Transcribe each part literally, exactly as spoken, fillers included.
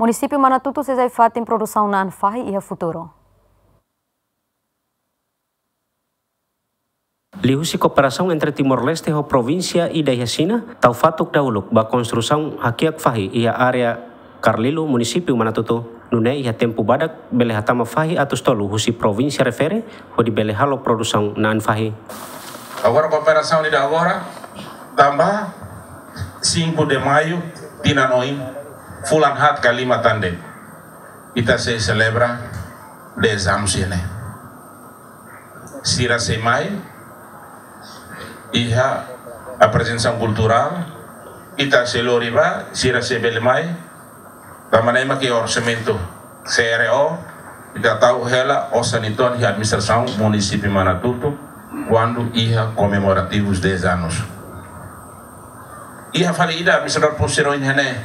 Munisípiu Manatutu sei sai fatin produsaun na'an fahi iha futuru. Liuhusi kooperasaun entre Timor-Leste ho provínsia ida iha Xina, tau fatuk dahuluk ba konstrusaun hakiak fahi iha área Carlilo, munisípiu Manatutu. Nune'e iha tempu badak bele hatama fahi atus tolu husi provínsia refere, hodi bele halo produsaun na'an fahi. Agora kooperasaun ida agora, tanba cinco de maio, tinan oin, fulan haat ka lima tan de'it, ita sei selebra dez anos iha ne'e. Sira sei mai, iha aprezentasaun kulturál, ita sei lori ba, sira sei bele mai, tanba ne'e mak iha orsamentu C R O, ita tau hela osan uitoan iha administrasaun munisípiu Manatutu, kuandu iha komemorativus dez anos. Iha fali ida, administradór pulsiroi iha ne'e,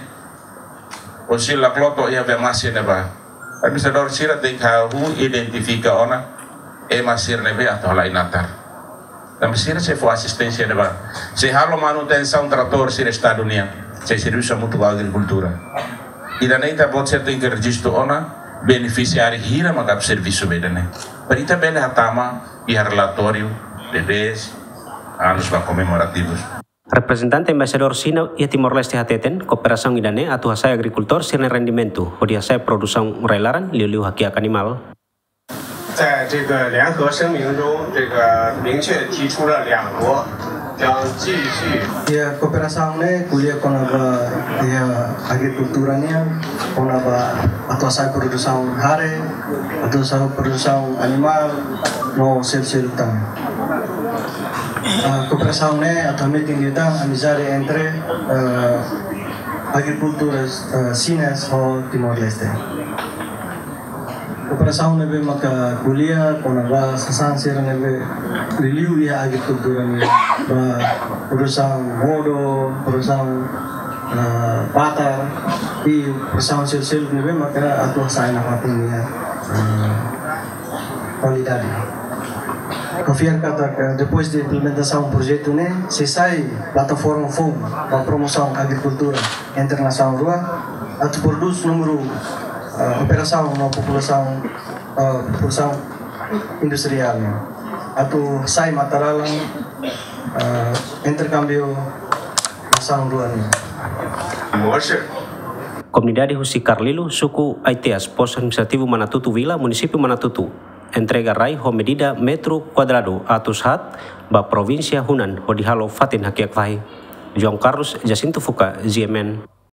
osil la kloto iha be masi ne'ebá. Administradór sira tenke hahú identifika ona ema sira ne'ebé atu halai natar. Tanba sira sei fó asisténsia ne'ebá. Sei halo manutensaun tratór sira Estadu nian. Sei servisu hamutuk ho agrikultura. Ida-ne'e ita-boot sira tenke rejistu ona benefisiáriu hira mak servisu ba ida-ne'e. Para ita bele hatama iha relatóriu de dez anos ba komemorativus. Reprezentante Embaixadór Xina iha Timor-Leste hateten, kooperasaun ida-ne'e atu hasa'e agrikultór sira-nia rendimentu, hodi hasa'e produsaun rai-laran, liuliu hakiak animál. 在这个联合声明中，这个明确提出了两国将继续 Iha kooperasaun ne'e ko'alia kona-ba iha agrikultura nian, kona-ba atu hasa'e produsaun hare, atu hasa'e produsaun animál, no seluk-seluk tan. Ah, kooperasaun ne'e atu hametin liután amizade entre, ah, agrikultura, ah, Xina ho Timor-Leste. Kooperasaun ne'ebé maka ko'alia kona-ba sasán sira ne'ebé liuliu iha agrikultura nian, ba produsaun modo, produsaun, ah, batar, i produsaun seluk-seluk ne'ebé maka atu hasa'e nafatin nia, ah, kualidade. Ha'u fiar katak, eh, depois de implementasaun projetu ne'e, sei sai plataforma foun ba promosaun agrikultura entre nasaun rua, atu prodús númeru, eh, operasaun no populasaun, eh, produsaun industriál ne'e. Atu sai matan-dalan, eh, interkámbiu nasaun rua ne'e. Komunidade husi Carlilo, suku Aiteas, postu administrativu Manatutu Vila, munisípiu Manatutu, entrega rai ho medida metru kuadradu atus haat ba provínsia Hunan hodi halo fatin hakiak fahi. João Carlos, Jacinto Fuca, G M N.